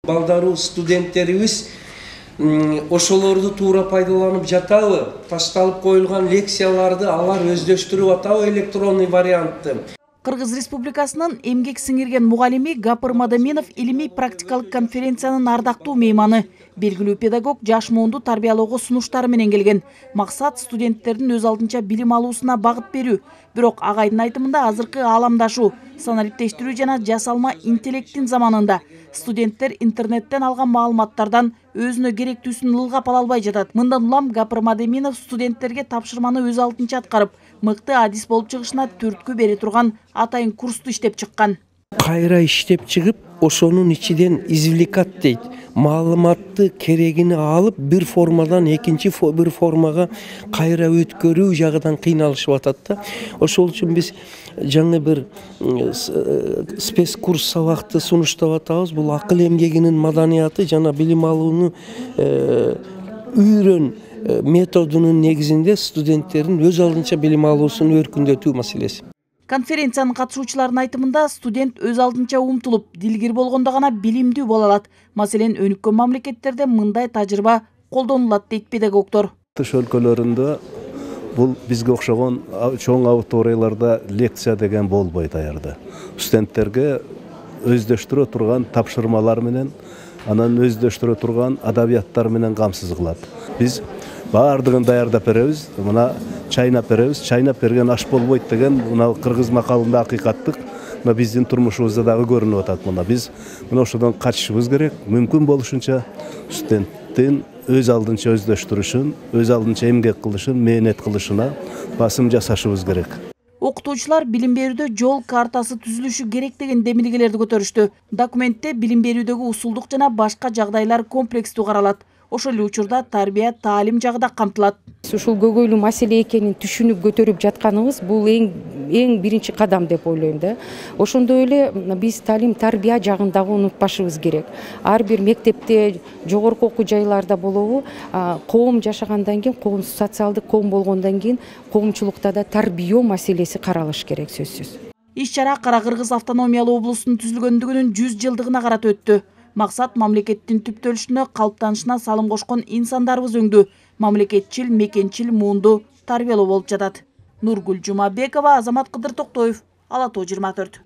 Балдарыбыз, студенттерибиз ошолорду туура пайдаланып жатабы? Ташталып коюлган лекцияларды алар өздөштүрүп атабы электронный вариантты? Кыргыз Республикасынын эмгек сиңирген мугалими Гапыр Мадаминов илимий практикалык конференциянын ардактуу мейманы. Белгилүү педагог жаш муунду тарбиялоого сунуштары менен келген. Максат студенттердин өз алдынча билим алуусуна багыт берүү. Бирок агайдын айтымында азыркы ааламдашуу, санариптештирүү жана жасалма интеллекттин заманында студенттер интернеттен алган маалыматтардан өзүнө керектүүсүн ылгап ала албай жатат. Мындан улам Гапыр Мадаминов студенттерге тапшырманы өз алдынча аткарып, мыкты адис болуп чыгышына түрткү бере турган атайын курсту иштеп чыккан. Кайра иштеп чыгып, ошонун ичинен извлекать дейт. Маалыматты керегини алып, бир формадан экинчи бир формага кайра өткөрүү жагынан кыйналышып атат да. Ошол үчүн биз жаңы бир спецкурс сабакты сунуштап атабыз. Бул акыл эмгегинин маданияты жана билим алууну үйрөн методунун негизинде студенттердин өз алдынча билим алуусун өркүндөтүү маселеси. Конференциянын катышуучуларынын айтымында студент өз алдынча умтулуп, дилгир болгондо гана билимдүү боло алат. Маселен, өнүккөн мамлекеттерде мындай тажрыйба колдонулат дейт педагогдор. Тыш өлкөлөрүндө бул бизге окшогон чоң аудиторияларда лекция деген болбойт аярда. Студенттерге өздөштүрө турган тапшырмалар менен, анан өздөштүрө турган адабияттар менен камсыз кылат. Биз баардыгын даярдап беребиз, мына чайнап беребиз. Чайнап берген аш болбойт деген мына кыргыз макалында акыйкаттык мына биздин турмушубузда дагы көрүнүп атат. Мына биз мына ошодон качышыбыз керек. Мүмкүн болушунча студенттин өз алдынча өздөштүрүшүн, өз алдынча эмгек кылышын, мээнет кылышына басым жасашыбыз керек. Окутуучулар билим берүүдө жол картасы түзүлүшү керек деген демилгелерди көтөрүштү. Документте билим берүүдөгү усулдук жана башка жагдайлар комплекстүү каралат. Ошол эле учурда тарбия, таалим жагы да камтылат. Ушул көйгөйлүү маселе экенин түшүнүп көтөрүп жатканыбыз бул эң биринчи кадам деп ойлойм да. Ошондой эле биз таалим тарбия жагын дагы унутпашыбыз керек. Ар бир мектепте, жогорку окуу жайларда болобу, коом жашагандан кийин, коом социалдык коом болгондон кийин коомчулукта да тарбия маселеси каралыш керек сөзсүз. Иш-чара Кара Кыргыз автономиялуу облусунун түзүлгөндүгүнүн 100 жылдыгына карата өттү. Максат мамлекеттин түптөлүшүнө, калыптанышына салым кошкон инсандарыбыз өңдү. Мамлекетчил, мекенчил муунду тарбиялоо болуп жатат. Нургүл Жумабекова, Азамат Кыдыр Токтоев, Ала Тоо 24.